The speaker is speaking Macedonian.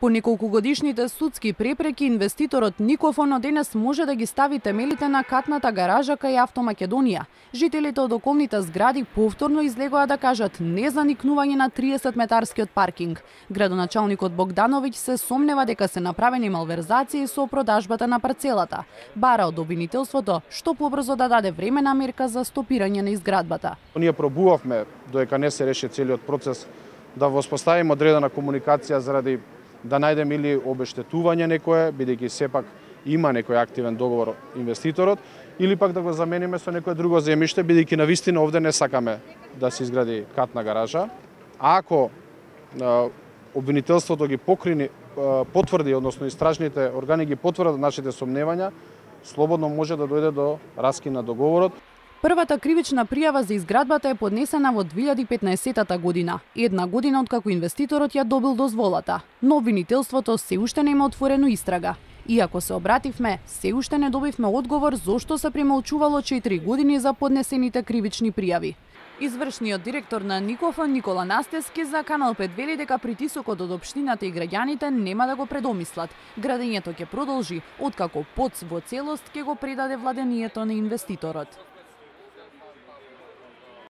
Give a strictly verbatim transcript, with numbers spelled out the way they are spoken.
По неколкугодишните судски препреки, инвеститорот Никофон денес може да ги стави темелите на катната гаража кај Автомакедонија. Жителите од околните згради повторно излегоа да кажат не за никнување на триесет метарскиот паркинг. Градоначалникот Богдановиќ се сомнева дека се направени малверзации со продажбата на парцелата. Бара од обвинителството што побрзо да даде времена мерка за стопирање на изградбата. Ние пробувавме додека не се реши целиот процес да воспоставиме одредена комуникација заради да најдеме или обештетување некое, бидејќи сепак има некој активен договор инвеститорот, или пак да го замениме со некое друго земјиште, бидејќи навистина овде не сакаме да се изгради катна гаража. А ако а, обвинителството ги покрини, а, потврди, односно истражните органи ги потврдат нашите сомневања, слободно може да дојде до раскин на договорот. Првата кривична пријава за изградбата е поднесена во две илјади и петнаесетта година, една година откако инвеститорот ја добил дозволата. Но обвинителството се уште нема отворено истрага. Иако се обративме, се уште не добивме одговор зошто се премолчувало четири години за поднесените кривични пријави. Извршниот директор на Никофон Никола Настески за Канал пет вели дека притисокот од општината и граѓаните нема да го предомислат. Градењето ќе продолжи откако ПОЦ во целост ќе го предаде владението на инвеститорот.